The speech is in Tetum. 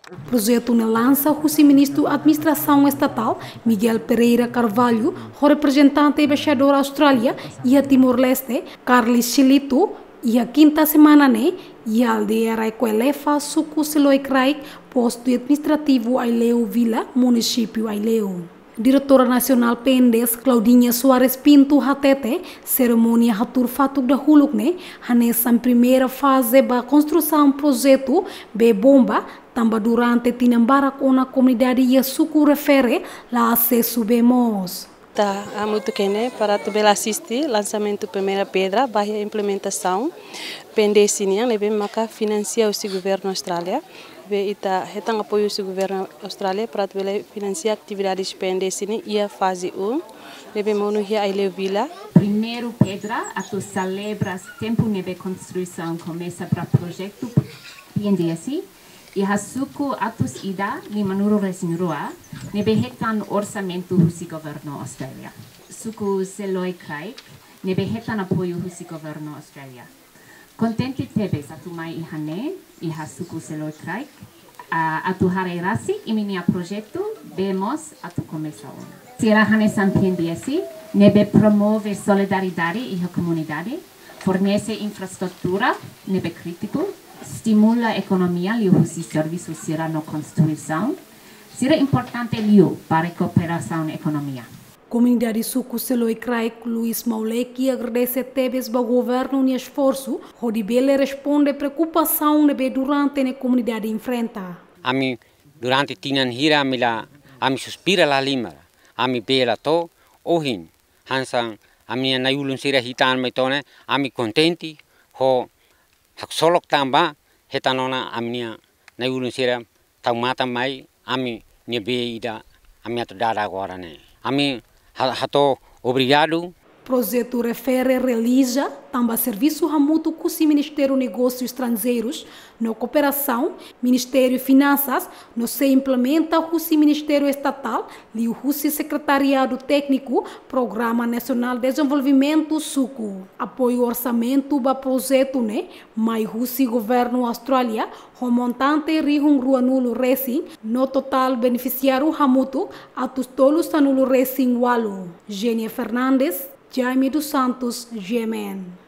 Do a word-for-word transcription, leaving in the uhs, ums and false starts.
Projetu ne'e lansa husi Ministru Administrasaun Estatál, Miguel Pereira Carvalho, ho reprezentante Embaixadór Austrália iha Timor-Leste, Carly Chilito, iha kinta semana ne'e, iha aldeia Raikoelefa, suku Seloi Kraik, postu administrativu Aileu Vila, munisípiu Aileu. Diretora Nasionál P N D S, Claudinha Soares Pinto, hateten, serimónia hatuur fatuk dahuluk ne'e hanesan primeira faze ba konstrusaun projetu bee bomba, tanba durante tinan barak ona komunidade iha suku refere la asesu bee moos. Ita hamutuk iha ne'e para atu bele asiste lansamentu primeira pedra, ba iha implementasaun P N D S nian, ne'ebé maka finansia husi governu Austrália. Ne'ebé ita hetan apoiu husi governu Austrália para atu bele finansia atividades P N D S nian iha faze um, ne'ebé monu iha Aileu Vila. Primeiru pedra atu selebra tempu ne'ebé konstrusaun komesa ba projetu P N D S iha suku atus ida limanulu-resin-rua, ne'ebé hetan orsamentu husi governu Austrália. Suku Seloi Kraik, ne'ebé hetan apoiu husi governu Austrália. Kontente tebes atu mai iha ne'e, iha suku Seloi Kraik, ah, atu haree rasik imi-nia projetu, bee moos atu komesa ona. Sira hanesan P N D S, ne'ebé promove solidariedade iha komunidade, fornese infraestrutura ne'ebé krítiku, estimula ekonomia liuhusi servisu sira no konstrusaun, sira importante liu ba rekuperasaun ekonomia. Komunidade suku Seloi Kraik, Luis Mauleki, agradese tebes ba governu nia esforsu hodi bele responde preokupasaun ne'ebé durante ne'e komunidade enfrenta. Ami durante tinan hira ami la, ami suspira la halimar, ami bee la to'o, ohin hanesan ami-nia na'i-ulun sira hetan mai to'o ne'e, ami kontente ho haksolok tanba hetan ona ami-nia na'i-ulun sira tau matan mai ami-nia bee ida ami atu dada agora ne'e. Ami ha-, hato'o obrigadu. Projetu refere realiza tanba servisu hamutuk husi Ministériu Negósius Estranjeirus no Kooperasaun, Ministériu Finansas, no sei implementa husi Ministériu Estatál, liuhusi Sekretariadu Tékniku Programa Nasionál Dezenvolvimentu Suku. Apoiu orsamentu ba projetu ne'e mai husi governu Austrália, ho montante rihun ruanulu-resin, no totál benefisiáriu hamutuk atus tolu sanulu-resin-ualu. Genia Fernandes, Jaime dos Santos, G M N.